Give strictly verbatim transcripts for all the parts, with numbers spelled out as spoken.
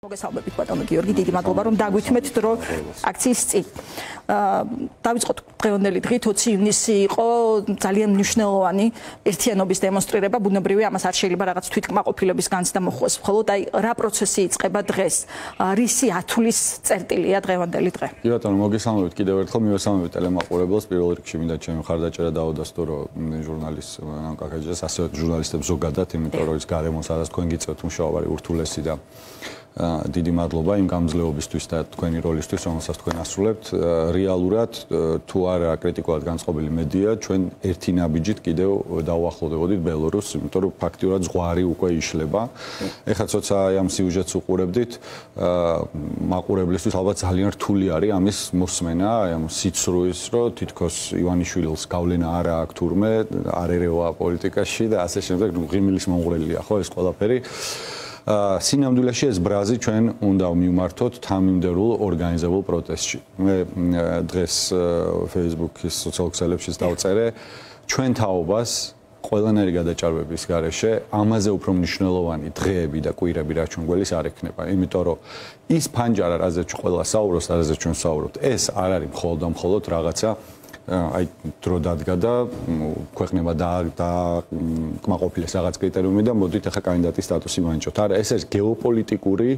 მოგესალმებით ბატონო გიორგი, დიდი მადლობა რომ დაგვითმეთ დრო აქციის წინ. დავიწყოთ დღევანდელი დღით ოცი ივნისი იყო ძალიან მნიშვნელოვანი ერთიანობის დემონსტრირება, ბუნებრივია ამას არ შეიძლება რაღაც თვითკმაყოფილების განცდა მოხდეს, მხოლოდ აი რა პროცესი იწყება დღეს, რისი ათვლის წერტილია დღევანდელი დღე. კი ბატონო, მოგესალმებით კიდევ ერთხელ, მივესალმებით ტელემაყურებელს, პირველ რიგში მინდა ჩემი მხარდაჭერა დაუდასტო რომ ჟურნალისტ ნან კაკაჯეს, ასევე ჟურნალისტებს ზოგადად, იმიტომ რომ ის გარემოს არას თქვენ გიწევთ მუშაობარი ურთულესი და დიდი მადლობა იმ გამძლეობისთვის და თქვენი როლისთვის, რომელსაც თქვენ ასრულებთ. რეალურად თუ არა კრიტიკულად განწყობილი მედია, ჩვენ ერთი ნაბიჯით კიდევ დავუახლოვდებოდით ბელორუსს, იმიტომ რომ ფაქტიურად ზღვარი უკვე იშლება. ეხლა ცოტა ამ სიუჟეტს უყურებდით, მაყურებლისთვის ალბათ ძალიან რთული არის ამის მოსმენა, ამ სიცრუის, რომ თითქოს ივანიშვილის გავლენა არა აქვს თურმე, არ ერევა პოლიტიკაში და ასე შემდეგ, ღიმილის მომღრელია ხო ეს ყველაფერი. სინამდვილეში ეს ბრაზი ჩვენ უნდა მივმართოთ თანმიმდევრულ ორგანიზებულ პროტესტში. მე დღეს Facebook-ის სოციალურ ქსელებშიც დავწერე ჩვენ თაობას ყველანაირი გადაჭარბების გარეშე ამაზე უფრო მნიშვნელოვანი დღეები და კვირები რაც ჩვენ გველის არ ექნება. იმიტომ რომ ის ფანჯარა, რაზეც ყველა საუბრობს, რაზეც ჩვენ საუბრობთ, ეს არ არის მხოლოდ და მხოლოდ რაღაცა აი დრო დადგა და ქვეყნება და და კმაყოფილეს რაღაც კრიტერიუმი და მოდით ახლა კანდიდატის სტატუსი მანჭოთ. არა, ეს არის გეოპოლიტიკური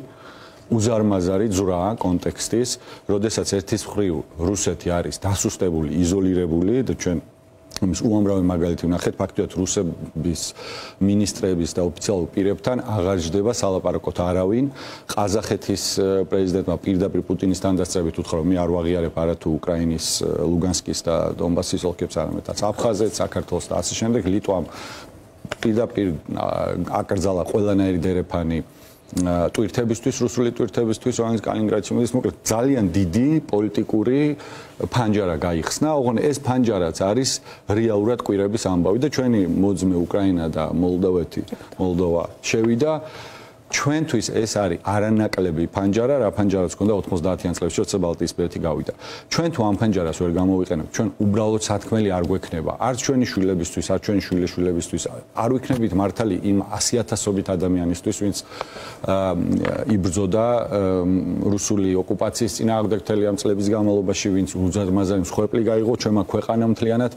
უზარმაზარი ძვრა კონტექსტის, როდესაც ერთის მხრივ რუსეთი არის დასუსტებული, იზოლირებული და ჩვენ იმის უამრავი მაგალითი ვნახეთ, ფაქტობრივად რუსების მინისტრების და ოფიციალურ პირებთან აღარ ჯდება სალაპარაკოთ არავინ. ყაზახეთის პრეზიდენტმა პირდაპირ პუტინისთან დასწრებით უთხრა, რომ მე არ ვაღიარებ არა თუ უკრაინის ლუგანსკის და დონბასის ოლქებს, არამედ აფხაზეთს, საქართველოს და ასე შემდეგ. ლიტვამ პირდაპირ აკრძალა ყველანაირი დერეფანი ტვირთებისთვის, რუსული ტვირთებისთვის, რომელიც კალინინგრადში მოდის, მოკლედ ძალიან დიდი პოლიტიკური ფანჯარა გაიხსნა. ოღონდ ეს ფანჯარაც არის რეალურად კვირების ამბავი და ჩვენი მოძმე უკრაინა და მოლდოვეთი, მოლდოვა შევიდა. ჩვენთვის ეს არის არანაკლები ფანჯარა, რა ფანჯარაც ქონდა ოთხმოცდაათიან წლებში, როცა ბალტიისპირეთი გავიდა. ჩვენ თუ ამ ფანჯარას ვერ გამოვიყენებთ, ჩვენ უბრალოდ სათქმელი არ გვექნება. არც ჩვენი შვილებისთვის, არც ჩვენი შვილიშვილებისთვის არ ვიქნებით მართალი იმ ასიათასობით ადამიანისთვის, ვინც იბრძოდა რუსული ოკუპაციის წინააღმდეგ მთელი ამ წლების განმავლობაში, ვინც უზარმაზარი მსხვერპლი გაიღო ჩვენმა ქვეყანამ მთლიანად.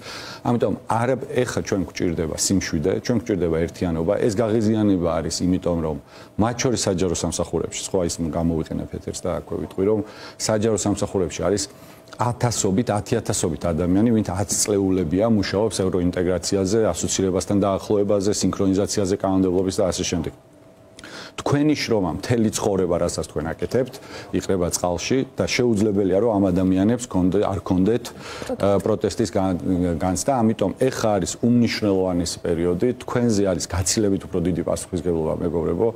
ამიტომ არა ეხა ჩვენ გვჭირდება სიმშვიდე, ჩვენ გვჭირდება ერთიანობა. ეს გაღიზიანება არის, იმიტომ რომ მათ შორის საჯარო სამსახურებში, სხვა ის გამოვიყენებ ეთერს და აქვე ვიტყვი, რომ საჯარო სამსახურებში არის ათასობით, ათიათასობით ადამიანი, ვინც ათი წლეულებია მუშაობს ევროინტეგრაციაზე, ასოცირებასთან დაახლოებაზე, სინქრონიზაციაზე, კანონმდებლობის და ასე შემდეგ. თქვენი შრომა, მთელი ცხოვრება, რასაც თქვენ აკეთებთ, იყრება წყალში და შეუძლებელია, რომ ამ ადამიანებს არ კონდეთ პროტესტის განცდა. ამიტომ ეხა არის უმნიშვნელოვანესი პერიოდი, თქვენზე არის გაცილებით უფრო დიდი პასუხისმგებლობა, მეგობრებო,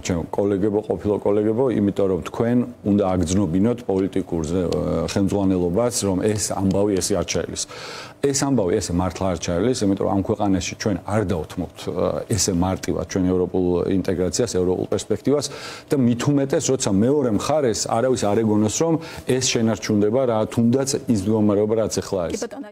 ჩვენ კოლეგებო, ყოფილ კოლეგებო, იმიტომ რომ თქვენ უნდა აგრძნობინოთ პოლიტიკურ ხელმძღვანელობას, რომ ეს ამბავი ესე არ ჩაელის. ეს ამბავი ესე მართლა არ ჩაელის, იმიტომ რომ ამ ქვეყანაში ჩვენ არ დავთმობთ ესე მარტივად ჩვენ ევროპულ ინტეგრაციას, ევროპულ პერსპექტივას და მით უმეტეს, როცა მეორე მხარეს არავის არ ეგონოს, რომ ეს შენარჩუნდება რა თუნდაც ის მდგომარეობა, რაც ახლა არის.